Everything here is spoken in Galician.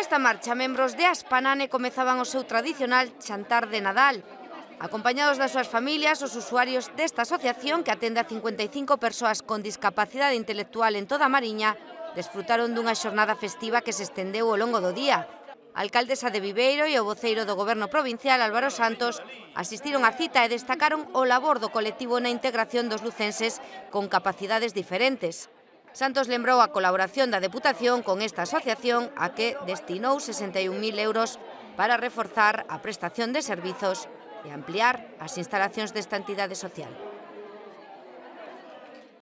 esta marcha, membros de Aspanane comezaban o seu tradicional xantar de Nadal. Acompañados das súas familias, os usuarios desta asociación, que atende a 55 persoas con discapacidade intelectual en toda a Mariña, desfrutaron dunha xornada festiva que se estendeu ao longo do día. A alcaldesa de Viveiro e o voceiro do Goberno provincial, Álvaro Santos, asistiron á cita e destacaron o labor do colectivo na integración dos lucenses con capacidades diferentes. Santos lembrou a colaboración da Deputación con esta asociación a que destinou 61.000 euros para reforzar a prestación de servizos e ampliar as instalacións desta entidade social.